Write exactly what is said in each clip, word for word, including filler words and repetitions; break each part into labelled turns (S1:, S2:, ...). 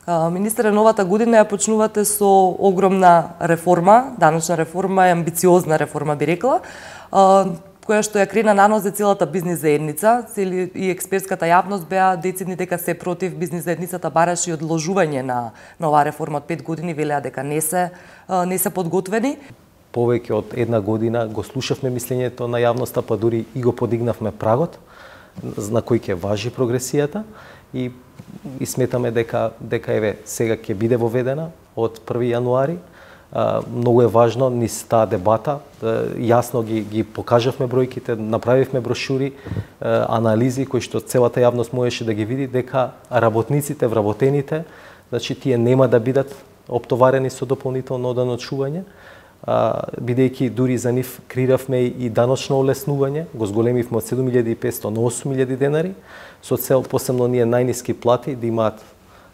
S1: Министре, новата година ја почнувате со огромна реформа, даночна реформа и амбициозна реформа, би рекла, која што ја крена на нос за целата бизнис заедница. Цели и експертската јавност беа децидни дека се против. Бизнис заедницата бараше и одложување на, на оваа реформа од пет години, велеа дека не се, не се подготвени.
S2: Повеќе од една година го слушавме мислењето на јавноста, па дури и го подигнавме прагот на кој ќе важи прогресијата и и сметаме дека дека еве сега ќе биде воведена од први јануари. А, многу е важно низ таа дебата, а, јасно ги ги покажавме бројките, направивме брошури, а, анализи кои што целата јавност можеше да ги види дека работниците, вработените, значи тие нема да бидат оптоварени со дополнително оданочување, бидејќи дури за нив креиравме и даночно олеснување, го зголемивме од седум илјади и петстотини на осум илјади денари, со цел посебно ние најниски плати да имаат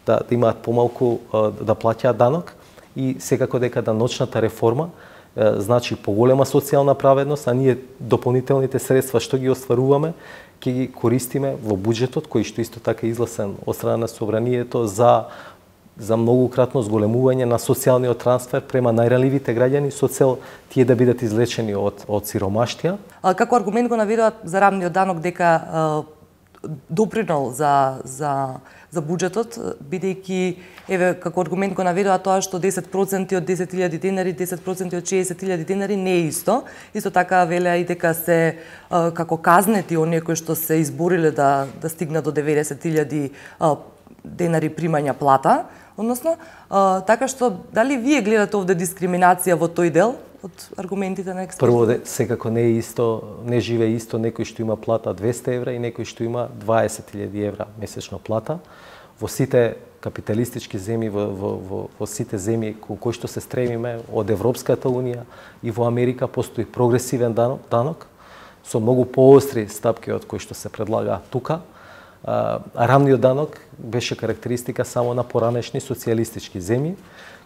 S2: да, да имаат помалку да плаќаат данок и секако дека даночната реформа значи поголема социјална праведност, а ние дополнителните средства што ги остваруваме ќе ги користиме во буџетот кој што исто така изгласен од страна на собранието за за многукратно зголемување на социјалниот трансфер према најранливите граѓани со цел тие да бидат излечени од од сиромаштија.
S1: А како аргумент го наведуваат за рамниот данок дека допринел за за за буџетот, бидејќи еве како аргумент го наведува тоа што десет проценти од десет илјади денари, десет проценти од шеесет илјади денари не е исто. Исто така велеа и дека се како казнети оние кои што се избориле да да стигнат до деветдесет илјади денари примања плата. Односно, а, така што, дали вие гледате овде дискриминација во тој дел од аргументите на експертите?
S2: Прво, секако не е исто, не живее исто некој што има плата двесте евра и некој што има дваесет илјади евра месечно плата. Во сите капиталистички земји, во, во, во, во сите земји кон кои што се стремиме, од Европската унија и во Америка постои прогресивен данок, данок со многу поостри стапки од кои што се предлага тука. А, рамниот данок беше карактеристика само на поранешни социјалистички земји,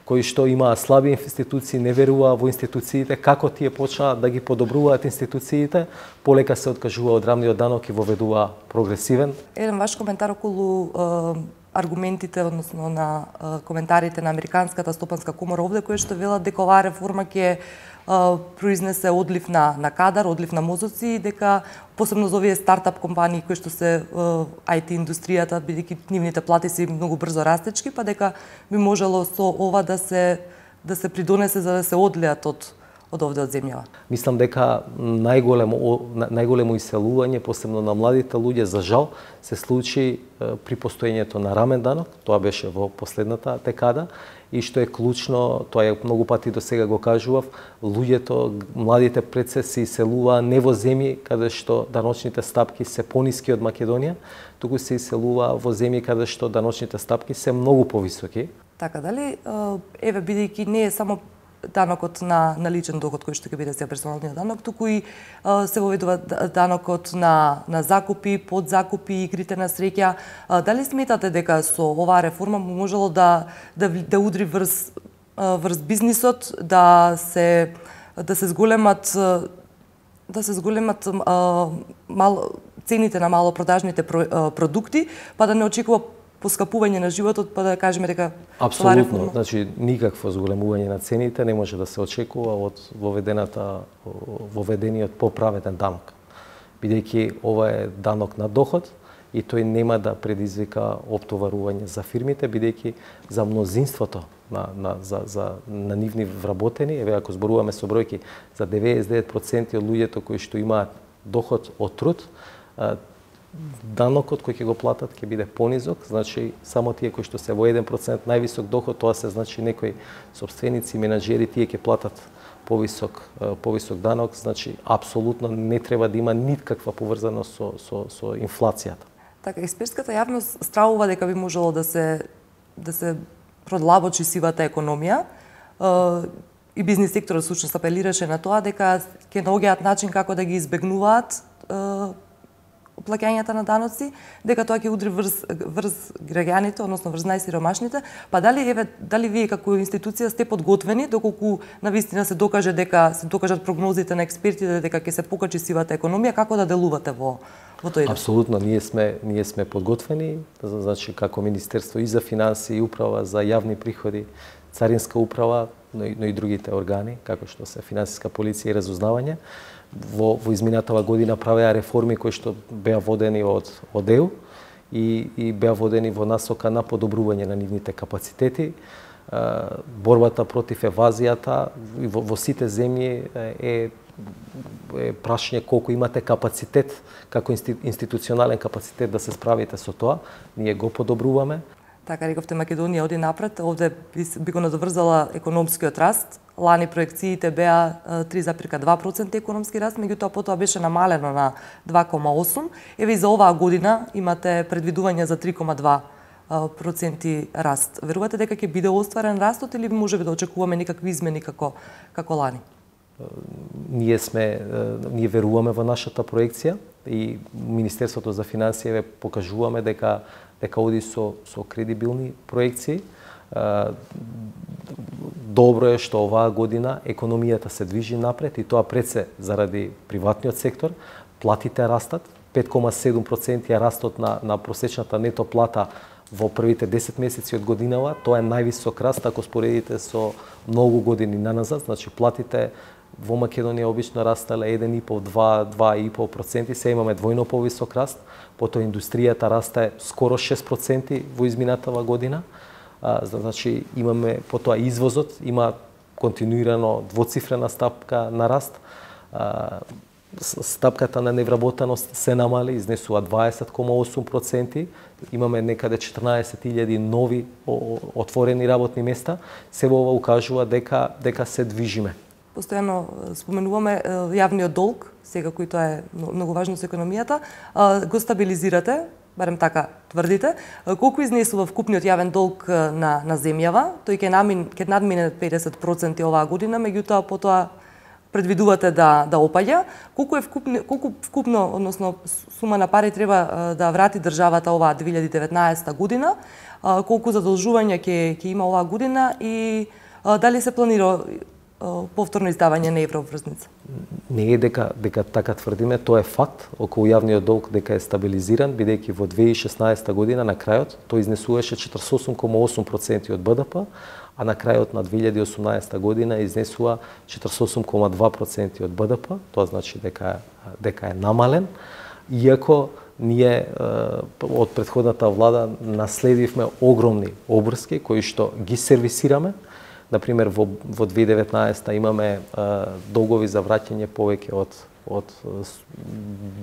S2: кои што имаа слаби институции, не веруваа во институциите, како тие почнаа да ги подобруваат институциите, полека се откажува од рамниот данок и воведува прогресивен.
S1: Еден ваш коментар околу е, аргументите, односно на е, коментарите на Американската стопанска комора овде, кои што велат дека оваа реформа ќе произнесе одлив на, на кадар, одлив на мозоци, дека посебно за овие стартап компании кои што се ај ти индустријата, бидејќи нивните плати се многу брзо растечки, па дека би можело со ова да се да се придонесе за да се одлеат од од овде од земјава.
S2: Мислам дека најголемо најголемо иселување, посебно на младите луѓе, за жал се случи при постоењето на рамен данок, тоа беше во последната декада. И што е клучно, тоа е многу пати до сега го кажував, луѓето, младите пред се се иселуваа не во земји каде што даночните стапки се пониски од Македонија, туку се иселуваа во земји каде што даночните стапки се многу повисоки.
S1: Така, дали, еве, бидејќи не е само данокот на, на личен доход кој што ќе биде сега персоналниот данок, туку и а, се воведува данокот на, на закупи, подзакупи, игрите на среќа. А, дали сметате дека со оваа реформа можело да, да, да удри врз, врз бизнисот, да се, да се зголемат да се зголемат а, мал, цените на малопродажните про, продукти, па да не очекува поскапување на животот, па да кажеме дека
S2: апсолутно, значи никакво зголемување на цените не може да се очекува од воведената воведениот поправеден данок. Бидејќи ова е данок на доход и тој нема да предизвика оптоварување за фирмите, бидејќи за мнозинството на на за за на нивни вработени, еве ако зборуваме со бројки, за деветдесет и девет проценти од луѓето кои што имаат доход од труд, данокот кој ќе го платат ќе биде понизок, значи само тие кои што се во еден процент највисок доход, тоа се значи некои собственици, менаџери, тие ќе платат повисок повисок данок, значи апсолутно не треба да има никаква поврзаност со со со инфлацијата.
S1: Така, експертската јавност стравува дека би можело да се да се продлабочи сивата економија. И бизнис секторот всушност апелираше на тоа дека ќе наоѓаат начин како да ги избегнуваат плаќањата на даноци, дека тоа ќе удри врз врз граѓаните, односно врз најсиромашните, па дали еве дали вие како институција сте подготвени доколку навистина се докаже дека се докажат прогнозите на експертите дека ќе се покачи сивата економија, како да делувате во во тој?
S2: Апсолутно, ние сме ние сме подготвени, значи како Министерство и за финансии, и управа за јавни приходи, Царинска управа, но и, но и другите органи, како што се финансиска полиција и разузнавање. Во, во изминатава година правеа реформи кои што беа водени од од ЕУ и, и беа водени во насока на подобрување на нивните капацитети. Борбата против евазијата во, во сите земји е, е прашање колку имате капацитет, како институционален капацитет да се справите со тоа. Ние го подобруваме.
S1: Така рековте, Македонија оди напред, овде би го надоврзала економскиот раст. Лани проекциите беа три запирка два проценти економски раст, меѓутоа потоа беше намалено на два кома осум. Еве и за оваа година имате предвидување за три кома два проценти раст. Верувате дека ќе биде остварен растот или можеби да очекуваме некакви измени како како лани?
S2: Ние сме ние веруваме во нашата проекција и Министерството за финансии покажуваме дека дека оди со со кредибилни проекции. Добро е што оваа година економијата се движи напред и тоа пред се заради приватниот сектор. Платите растат, пет кома седум проценти е растот на на просечната нето плата во првите десет месеци од годинава. Тоа е највисок раст ако споредите со многу години наназад, значи платите во Македонија обично растале еден и по два, два и по проценти, се имаме двојно повисок раст, потоа индустријата расте скоро шест проценти во изминатава година. А, значи имаме потоа извозот има континуирано двоцифрена стапка на раст. А, стапката на невработеност се намали, изнесува дваесет кома осум проценти. Имаме некаде четрнаесет илјади нови отворени работни места. Се ова укажува дека дека се движиме.
S1: Постојано споменуваме јавниот долг, сега кој тоа е многу важно со економијата, го стабилизирате, барем така тврдите. Колку изнесува вкупниот јавен долг на на земјава? Тој ќе намин ќе надмине педесет проценти оваа година, меѓутоа потоа предвидувате да да опаѓа. Колку е вкупно колку вкупно, односно сума на пари треба да врати државата оваа две илјади и деветнаесета година? Колку задолжувања ќе ќе има оваа година и дали се планира повторно издавање на еврообврзница?
S2: Не е дека дека така тврдиме, тоа е факт околу јавниот долг дека е стабилизиран, бидејќи во две илјади и шеснаесета година на крајот тој изнесуваше четридесет и осум кома осум проценти од БДП, а на крајот на две илјади и осумнаесета година изнесува четридесет и осум кома два проценти од БДП, тоа значи дека дека е намален, иако ние од претходната влада наследивме огромни обврски кои што ги сервисираме. Например, во, во две илјади и деветнаесета имаме а, долгови за враќање повеќе од од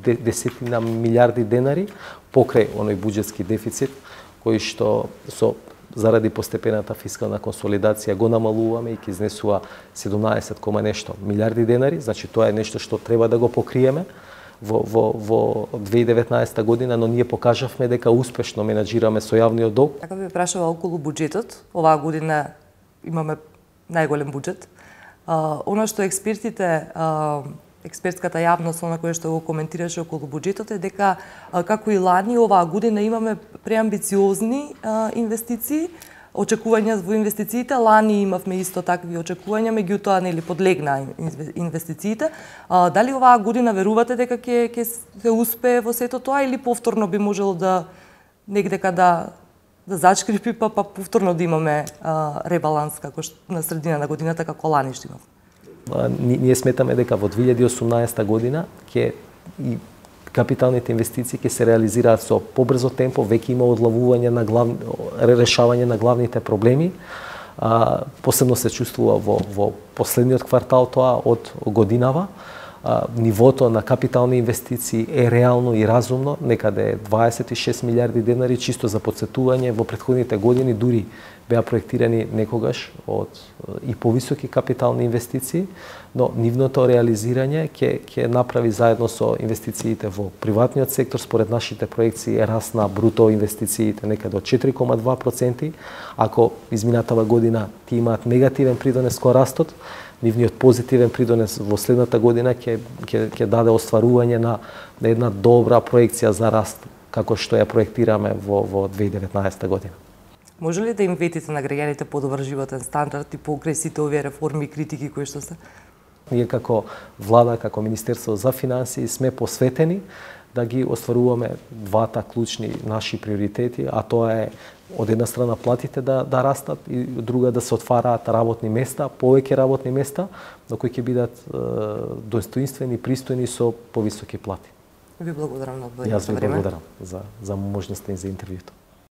S2: десетина милиарди денари покрај оној буџетски дефицит кој што со заради постепената фискална консолидација го намалуваме и ќе изнесува седумнаесет кома нешто милиарди денари, значи тоа е нешто што треба да го покриеме во во во две илјади и деветнаесета година, но ние покажавме дека успешно менаџираме со јавниот долг.
S1: Така би прашала околу буџетот. Оваа година имаме најголем буџет. Uh, Оно што експертите, uh, експертската јавност, она која што го коментираше околу буџетот е дека uh, како и лани оваа година имаме преамбициозни uh, инвестиции, очекувања во инвестициите. Лани имавме исто такви очекувања, меѓутоа нели подлегна инвестициите. Uh, дали оваа година верувате дека ќе ќе се успее во сето тоа или повторно би можело да негдека да да зачкрипи, па, па повторно да имаме а, ребаланс како што на средина на годината како лани што имав?
S2: Ние сметаме дека во две илјади и осумнаесета година ќе и капиталните инвестиции ќе се реализираат со побрзо темпо, веќе има одлавување на главни, решавање на главните проблеми. А, посебно се чувствува во во последниот квартал тоа од годинава. Нивото на капитални инвестиции е реално и разумно, некаде дваесет и шест милиарди денари, чисто за потсетување. Во претходните години дури беа проектирани некогаш од и повисоки капитални инвестиции, но нивното реализирање ќе ќе направи заедно со инвестициите во приватниот сектор, според нашите проекции е раст на бруто инвестициите некаде од четири кома два проценти. Ако изминатава година ти имаат негативен придонес кон растот, нивниот позитивен придонес во следната година ќе ќе ќе даде остварување на, на една добра проекција за раст како што ја проектираме во во две илјади и деветнаесета година.
S1: Може ли да им ветите на граѓаните подобар животен стандард и покрај сите овие реформи и критики кои што се?
S2: Ние како влада, како Министерство за финансии сме посветени да ги остваруваме двата клучни наши приоритети, а тоа е од една страна платите да да растат и од друга да се отвараат работни места, повеќе работни места, но кои ќе бидат е, достоинствени, пристојни со повисоки плати.
S1: Ви благодарам на одвоеното
S2: време. Јас ви
S1: време.
S2: благодарам за за можноста и за интервјуто.